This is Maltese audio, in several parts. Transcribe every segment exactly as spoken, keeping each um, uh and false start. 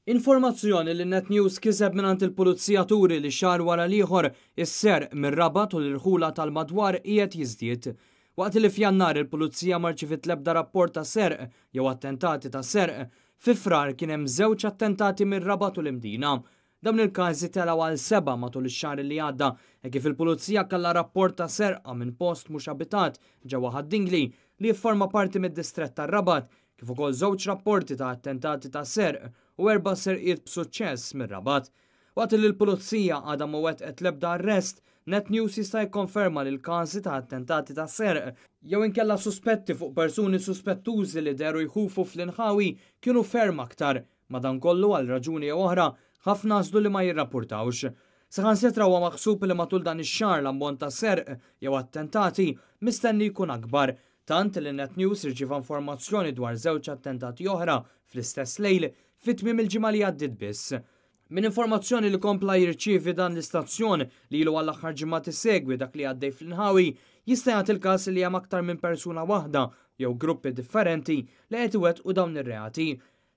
Informazzjoni li Net News kiseb mingħand il-Pulizija turi li xahar wara l-ieħor is-serq mir-Rabat u l-irħula tal-madwar qiegħed jiżdied. Waqt li f'Jannar il-Pulizija ma rċeviet l-ebda rapport ta' serq jew attentati ta' serq, fi Frar kien hemm żewġ attentati mir-Rabat u l-Imdina. Dawn il-każi telgħu għal seba' matul ix-xahar li għadda e kif il-Pulizija kellha rapport ta' serqa minn post mhux abitat ġewwa Ħad-Dingli li jifforma parti mid-distrett tar-Rabat, kif ukoll żewġ rapporti ta' attentati ta' serq u erba' serqiet b'suċċess mir-Rabat. Waqt li l-Pulizija għadha ma wettqet l-ebda arrest, Net News jista' jikkonferma li l-każi ta' attentati ta' serq jew inkella suspetti fuq persuni suspettużi li dehru jħufu fl-inħawi kienu ferm aktar. Madankollu, għal raġuni jew oħra, ħafna għażlu li ma jirrapportawx. Saħansitra huwa maħsub li matul dan ix-xahar l-ammont ta' serq jew attentati mistenni jkun akbar, tant li Net News irċieva informazzjoni dwar żewġ attentati oħra fl-istess lejl fit-tmiem il-ġimgħa li għaddiet biss. Minn informazzjoni li kompla jirċievi dan l-istazzjon li ilu għall-aħħar ġimgħat isegwi dak li għaddej fl-inħawi, jista' jagħti il-każ li hemm aktar minn persuna waħda jew gruppi differenti li qed iwettqu dawn ir-reati.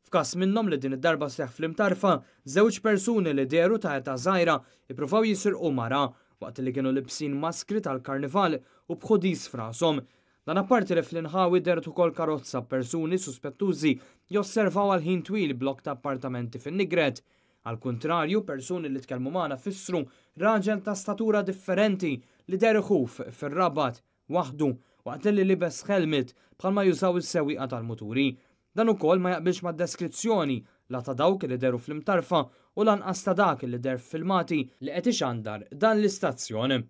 F'każ minnhom li din id-darba seħħ fl-Imtarfa, żewġ persuni li dehru ta' età żgħira ippruvaw jisirqu mara waqt li kienu libsin maskri tal-karnival u b'hoodies f'rashom. Dan apparti li fl-inħawi dehret ukoll karozza, persuni suspettużi josservaw għal ħin twil blok ta' appartamenti fin-Nigret. Al kontrarju, persuni li tkellmu magħna fissru raġel ta' statura differenti li deher iħuf fir-Rabat waħdu waqt li libes helmet bħalma jużaw is-sewwieqa tal-muturi. Dan ukoll ma jaqbilx mad-deskrizzjoni la ta' dawk li dehru fl-Imtarfa u lanqas ta' dak li deher filmati li qed ixandar dan l-istazzjon.